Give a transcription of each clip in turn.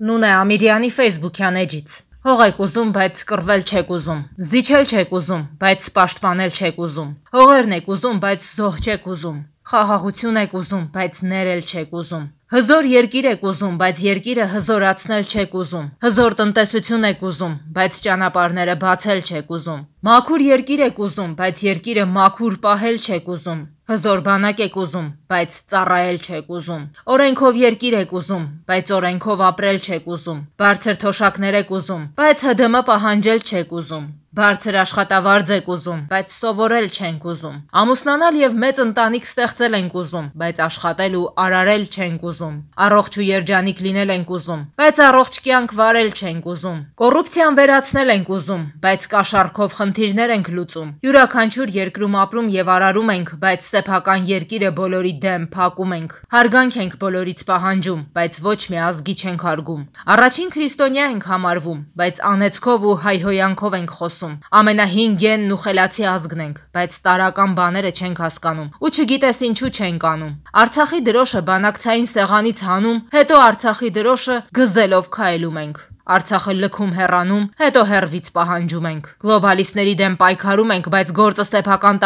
Նունե Ամիրյանի ֆեյսբուքյան էջից։ Հող եք ուզում, բայց կռվել չեք ուզում, զիջել չեք ուզում, բայց պաշտպանել չեք ուզում, հողերն եք ուզում, բայց զոհ չեք ուզում, խաղաղություն եք ուզում, բայց ներել չեք ուզում, հզոր երկիր եք ուզում, բայց երկիրը հզորացնել չեք ուզում, հզոր տնտեսություն եք ուզում, բայց ճանապարհները բացել չեք ուզում, մաքուր երկիր եք ուզում, բայց երկիրը մաքուր պահել չեք ուզում, հզոր բանակ եք ուզում, բայց ծառայել չեք ուզում, օրենքով երկիր եք ուզում, բայց օրենքով ապրել չեք ուզում, բարձր թոշակներ եք ուզում, բայց ՀԴՄ պահանջել չեք ուզում, բարձր աշխատավարձ եք ուզում, բայց սովորել չենք ուզում, ամուսնանալ եւ մեծ ընտանիք ստեղծել ենք ուզում, բայց աշխատել ու արարել չենք ուզում, առողջ ու երջանիկ լինել ենք ուզում, բայց առողջ կյանք վարել չենք ուզում, կոռուպցիան վերացնել ենք ուզում, բայց կաշառքով խնդիրներ ենք լուծում, յուրաքանչյուր երկրում ապրում եւ արարում ենք, բայց սեփական երկիրը բոլորի դեմ փակում ենք, հարգանք ենք բոլորից պահանջում, բայց ոչ մի ազգի չենք հարգում, առաջին քրիստոնյա ենք համարվում, բայց անեծքով ու հայհոյանքով ենք խոսում, ամենահին գենն ու խելացի ազգն ենք, բայց տարական բաները չենք հասկանում ու չգիտես ինչու չենք անում, Արցախի դրոշը բանակցային սեղանից հանում, հետո Արցախի դրոշը գզելով քայլում ենք, Արցախը լքում հեռանում, հետո հեռվից պահանջում ենք, գլոբալիստների դեմ պայքարում ենք, բայց գործը սեփական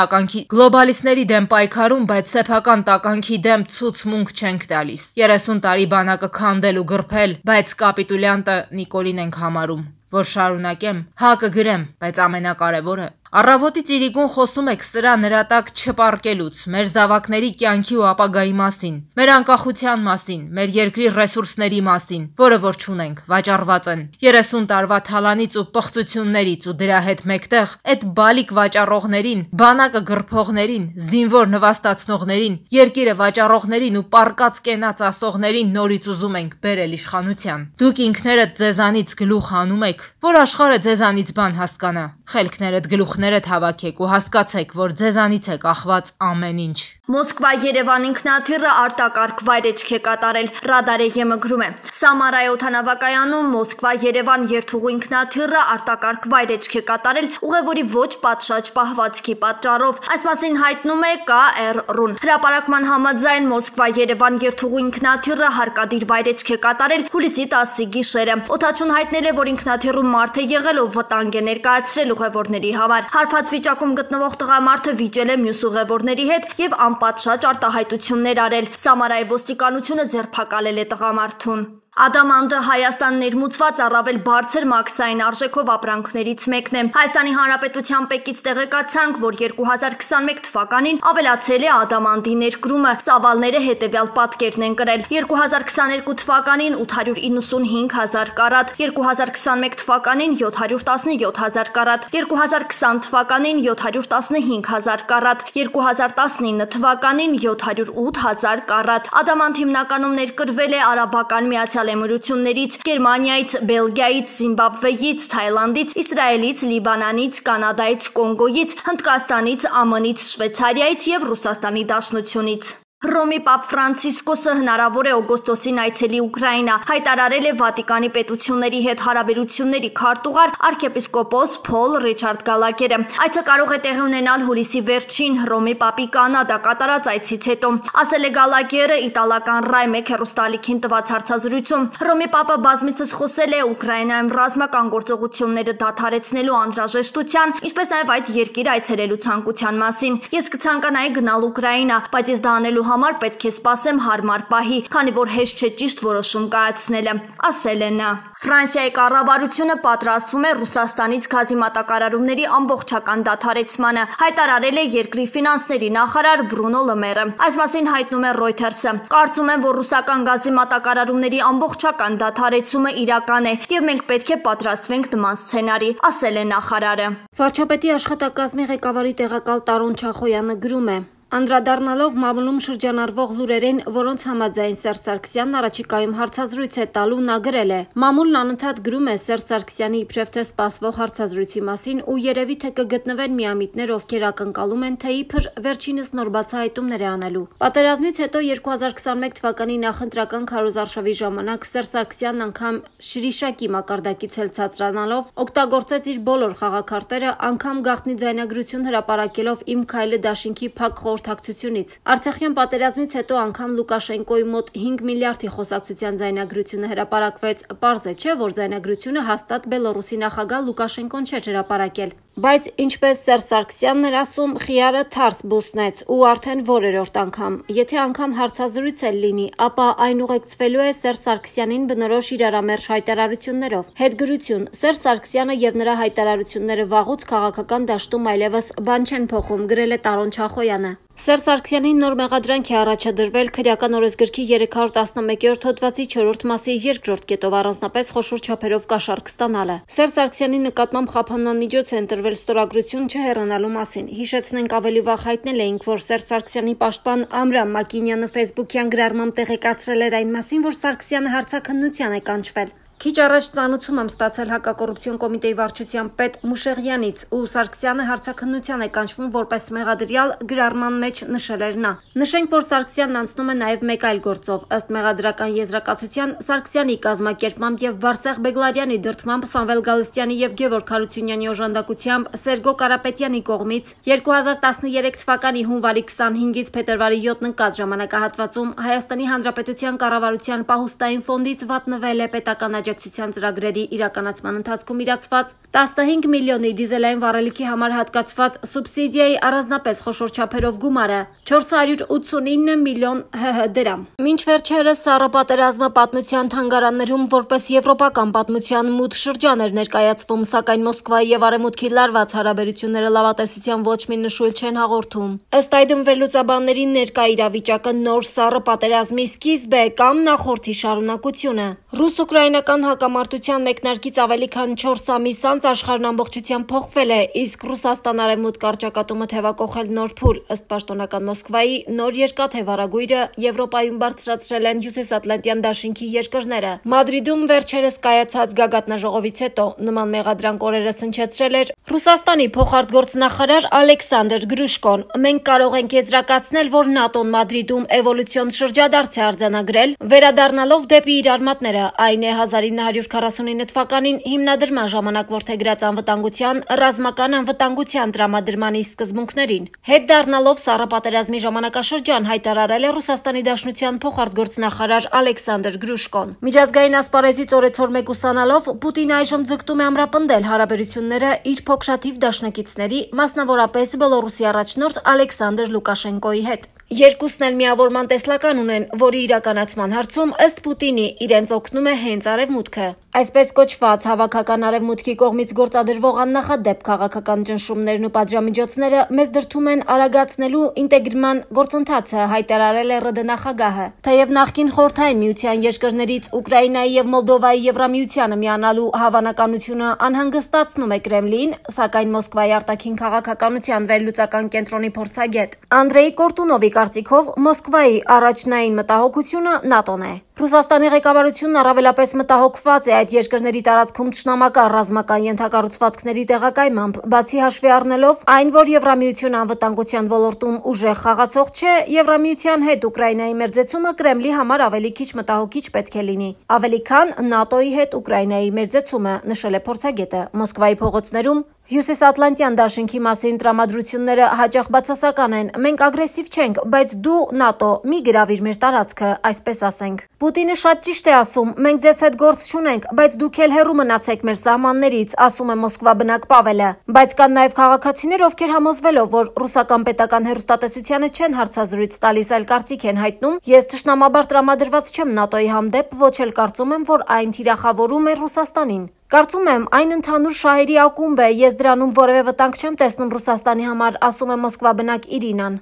տականքի դեմ ցուցմունք չենք տալիս, 30 տարի բանակը քանդել ու գրփել, բայց կապիտուլյանտը Նիկոլին ենք համարում, որ շարունակեմ, հակը գրեմ, բայց ամենակարևորը, առավոտի ծիրիկուն խոսում եք սրա նրա տակ չպարկելուց, մեր զավակների կյանքի ու ապագայի մասին, մեր անկախության մասին, մեր երկրի ռեսուրսների մասին, որը որ չունենք, վաճառված են, 30 տարվա թալանից ու պղծություններից ու դրա հետ մեկտեղ այդ բալիկ վաճառողներին, բանակը գրփողներին, զինվոր նվաստացնողներին, երկիրը վաճառողներին ու պարկած կենաց ասողներին նորից ուզում ենք բերել իշխանության, դուք ինքներդ ձեզանից գլուխ հանում եք, որ աշխարհը ձեզանից բան հասկանա, խելքներդ գլուխներդ հավաքեք ու հասկացեք, որ ձեզանից է կախված ամեն ինչ։ Մոսկվա-Երևան ինքնաթիռը արտակարգ վայրեջք է կատարել, Ռադարեգեմը գրում է։ Սամարայի օդանավակայանում Մոսկվա-Երևան երթուղու ինքնաթիռը արտակարգ վայրեջք է կատարել ուղևորի ոչ պատշաճ պահվածքի պատճառով։ Այս մասին հայտնում է KR-ն։ Հրապարակման համաձայն Մոսկվա-Երևան երթուղու ինքնաթիռը հարկադիր վայրեջք է կատարել հուլիսի 10-ի գիշերը։ Օդաչուն հայտնել է, որ ինքնաթիռում մարդ է եղել, ով վտանգ է ներկայացրել ուղևորների համար։ Հարբած վիճակում գտնվող տղամարդը վիճել է մյուս ուղևորների հետ եւ անպատշաճ արտահայտություններ արել։ Սամարայի ոստիկանությունը ձերբակալել է տղամարդուն։ Ադամանդը Հայաստան ներմուծված առավել բարձր մաքսային արժեքով ապրանքներից մեկն է։ Հայաստանի Հանրապետության ՊԵԿ-ից տեղեկացանք, որ 2021 թվականին ավելացել է ադամանդի ներկրումը, ծավալները հետևյալ պատկերն են կրել. 2022 թվականին 895,000 կարատ, 2021 թվականին 717,000 կարատ, 2020 թվականին 715,000 կարատ, 2019 թվականին 708,000 կարատ։ Ադամանդ հիմնականում ներկրվել է Արաբական Միացյալ Էմիրություններից, Գերմանիայից, Բելգիայից, Զիմբաբվեից, Թայլանդից, Իսրայելից, Լիբանանից, Կանադայից, Կոնգոյից, Հնդկաստանից, ԱՄՆ-ից, Շվեյցարիայից եւ Ռուսաստանի Դաշնությունից։ Հռոմի Պապ Ֆրանցիսկոսը հնարավոր է օգոստոսին այցելի Ուկրաինա, հայտարարել է Վատիկանի պետությունների հետ հարաբերությունների քարտուղար arczepiskopos Փոլ Ռիչարդ Գալագերը։ Այցը կարող է տեղի ունենալ հուլիսի վերջին Հռոմի Պապի Կանադա կատարած այցից հետո, ասել է Գալագերը իտալական Rai 1 հեռուստաալիքին տված հարցազրույցում։ Հռոմի Պապը բազմիցս խոսել է Ուկրաինայում ռազմական գործողությունները դադարեցնելու անհրաժեշտության, ինչպես նաև այդ երկիր այցելելու ցանկության մասին։ Ես կցանկանայի գնալ Ուկրաինա, բայց ես դա անելու համար պետք է սպասեմ հարմար պահի, քանի որ հեշտ չէ ճիշտ որոշում կայացնելը, ասել է նա։ Ֆրանսիայի կառավարությունը պատրաստվում է Ռուսաստանից գազի մատակարարումների ամբողջական դադարեցմանը, հայտարարել է երկրի ֆինանսների նախարար Բրունո Լեմերը։ Այս մասին հայտնում է Reuters-ը։ Կարծում եմ, որ ռուսական գազի մատակարարումների ամբողջական դադարեցումը իրական է, եւ մենք պետք է պատրաստվենք նման սցենարի, ասել է նախարարը։ Վարչապետի աշխատակազմի ղեկավարի տեղակալ Տարոն Չախոյանը գրում է. Անդրադառնալով մամուլում շրջանառվող լուրերին, որոնց համաձայն Սերժ Սարգսյանն առաջիկայում հարցազրույց է տալու, նա գրել է. Մամուլն անընդհատ գրում է Սերժ Սարգսյանի իբրև թե սպասվող հարցազրույցի մասին ու երևի թե կգտնվեն միամիտներ, ովքեր ակնկալում են, թե իբր վերջինս նոր բացահայտումներ է անելու։ Պատերազմից հետո 2021 թվականի նախընտրական քարոզարշավի ժամանակ Սերժ Սարգսյանն անգամ շրիշակի մակարդակից էլ ցածրանալով օգտագործեց իր բոլոր խաղաքարտերը, անգամ գաղտնի ձայնագրություն հրապարակելով Իմ քայլը դաշինքի փակ հաղորդակցությունից։ Արցախյան պատերազմից հետո անգամ Լուկաշենկոյի մոտ 5 միլիարդի խոսակցության ձայնագրությունը հրապարակվեց։ Պարզ է, չէ, որ ձայնագրությունը հաստատ Բելոռուսի նախագահ Լուկաշենկոն չէր հրապարակել։ Բայց ինչպես Սերժ Սարգսյանն էր ասում, խիարը թարս բուսնեց ու արդեն որերորդ անգամ։ Եթե անգամ հարցազրույց էլ լինի, ապա այն ուղեկցվելու է Սերժ Սարգսյանին բնորոշ իրարամերժ հայտարարություններով։ Հետգրություն. Սերժ Սարգսյանը եւ նրա հայտարարությունները վաղուց քաղաքական դաշտում այլևս բան չեն փոխում, գրել է Տարոն Չախոյանը։ Սերժ Սարգսյանին նոր մեղադրանք է առաջադրվել քրեական օրենսգրքի 311-րդ հոդվածի 4-րդ մասի 2-րդ կետով առանձնապես խոշոր չափերով կաշառք ստանալը։ Սերժ Սարգսյանի նկատմամբ խափանանիջոց է ընտրվել ստորագրություն չհեռանալու մասին։ Հիշեցնենք, ավելի վաղ հայտնել էինք, որ Սերժ Սարգսյանի պաշտպան Ամրամ Մակինյանը ֆեյսբուքյան գրառմամբ տեղեկացրել էր այն մասին, որ Սարգսյանը հարցաքննության է կանչվել։ Քիչ առաջ ծանուցում եմ ստացել հակակոռուպցիոն կոմիտեի վարչության պետ Մուշեղյանից, ու Սարգսյանը հարցաքննության է կանչվում որպես մեղադրյալ, գրառման մեջ նշել էր նա։ Նշենք, որ Սարգսյանն անցնում է նաև մեկ այլ գործով։ Ըստ մեղադրական եզրակացության, Սարգսյանի կազմակերպմամբ եւ Բարսեղ Բեգլարյանի դրդմամբ Սամվել Գալստյանի եւ Գևորգ Հարությունյանի օժանդակությամբ Սերգո Կարապետյանի կողմից 2013 թվականի հունվարի 25-ից փետրվարի 7-ն ընկած ժամանակահատվածում Հայաստանի Հանրապետության կառավարության պահուստային ֆոնդից վատնվել է պետական աջակցության ծրագրերի իրականացման ընթացքում իրացված 15 միլիոնի դիզելային վառելիքի համար հատկացված սուբսիդիայի առանձնապես խոշոր չափերով գումարը 489 միլիոն ՀՀ դրամ։ Մինչ վերջերս Սառը պատերազմը պատմության թանգարաններում որպես եվրոպական պատմության մութ շրջան էր ներկայացվում, սակայն Մոսկվայի եւ Արևմուտքի լարված հարաբերությունները լավատեսության ոչ մի նշույլ չեն հաղորդում։ Ըստ այդմ վերլուծաբանների ներկա իրավիճակը նոր Սառը պատերազմի սկիզբ է կամ նախորդի շարունակությունը։ Ռուս-ուկրաինական հակամարտության մեկնարկից ավելի քան 4 ամիս անց աշխարհն ամբողջությամբ փոխվել է, իսկ Ռուսաստան-Արևմուտք առճակատումը թևակողել նոր փուլ։ Ըստ պաշտոնական Մոսկվայի, նոր երկաթե վարագույրը Եվրոպայում բարձրացրել են Հյուսիսատլանտյան դաշինքի երկրները։ Մադրիդում վերջերս կայացած գագաթնաժողովից հետո նման մեղադրանք օրերս հնչեցրել էր Ռուսաստանի փոխարտգործնախարար Ալեքսանդր Գրուշկոն։ Մենք կարող ենք եզրակացնել, որ ՆԱՏՕ-ն Մադրիդում էվոլյուցիոն շրջադարձ է արձանագրել, վերադառնալով դեպի իր արմատները, այն է 1949 թվականին հիմնադրման ժամանակ որդեգրած անվտանգության, ռազմական անվտանգության տրամադրմանի սկզբունքներին։ Հետ դառնալով Սառը պատերազմի ժամանակաշրջան հայտարարել է Ռուսաստանի Դաշնության փոխարտգործնախարար Ալեքսանդր Գրուշկոն։ Միջազգային ասպարեզից օրեցօր մեկուսանալով Պուտինը այժմ ձգտում է ամրապնդել հարաբերությունները իր փոքշաթիվ դաշնակիցների, մասնավորապես Բելոռուսի առաջնորդ Ալեքսանդր Լուկաշենկոյի հետ։ Երկուսն էլ միավորման տեսլական ունեն, որի իրականացման հարցում ըստ Պուտինի իրենց օգնում է հենց Արևմուտքը։ Այսպես կոչված հավաքական Արևմուտքի կողմից գործադրվող աննախադեպ քաղաքական ճնշումներն ու պատժամիջոցները մեզ դրդում են արագացնելու ինտեգրման գործընթացը, հայտարարել է ՌԴ նախագահը։ Թեև նախկին Խորհրդային Միության երկրներից Ուկրաինայի եւ Մոլդովայի Եվրամիությանը միանալու հավանականությունը անհանգստացնում է Կրեմլին, սակայն Մոսկվայի արտաքին քաղաքականության վերլուծական կենտրոնի փորձագետ Անդրեյ Կորտունովի կարծիքով Մոսկվայի առաջնային մտահոգությունը ՆԱՏՕ-ն է։ Ռուսաստանի ղեկավարությունն առավելապես մտահոգված է այդ երկրների տարածքում թշնամական ռազմական ենթակառուցվածքների տեղակայմամբ, բացի հաշվի առնելով այն, որ Եվրամիությունը անվտանգության ոլորտում ուժեղ խաղացող չէ, Եվրամիության հետ Ուկրաինայի մերձեցումը Կրեմլի համար ավելի քիչ մտահոգիչ պետք է լինի, ավելի քան ՆԱՏՕ-ի հետ Ուկրաինայի մերձեցումը, նշել է փորձագետը։ Մոսկվայի փողոցներում Հյուսիսատլանտյան դաշինքի մասին տրամադրությունները հաճախ բացասական են։ Մենք ագրեսիվ չենք, բայց դու ՆԱՏՕ մի գրավիր մեր տարածքը, այսպես ասենք։ Պուտինը շատ ճիշտ է ասում, մենք ձեզ հետ գործ չունենք, բայց դուք էլ հեռու մնացեք մեր սահմաններից, ասում է Մոսկվա բնակ Պավելը։ Բայց կան նաև քաղաքացիներ, ովքեր համոզվելով, որ ռուսական պետական հեռուստատեսությանը չեն հարցազրույց տալիս, այլ կարծիք են հայտնում, ես թշնամաբար տրամադրված չեմ ՆԱՏՕ-ի հանդեպ, ոչ էլ կարծում եմ, որ այն թիրախավորում է Ռուսաստանին։ Կարծում եմ, այն ընդհանուր շահերի ակումբ է, ես դրանում որևէ վտանգ չեմ տեսնում Ռուսաստանի համար, ասում է Մոսկվա բնակ Իրինան։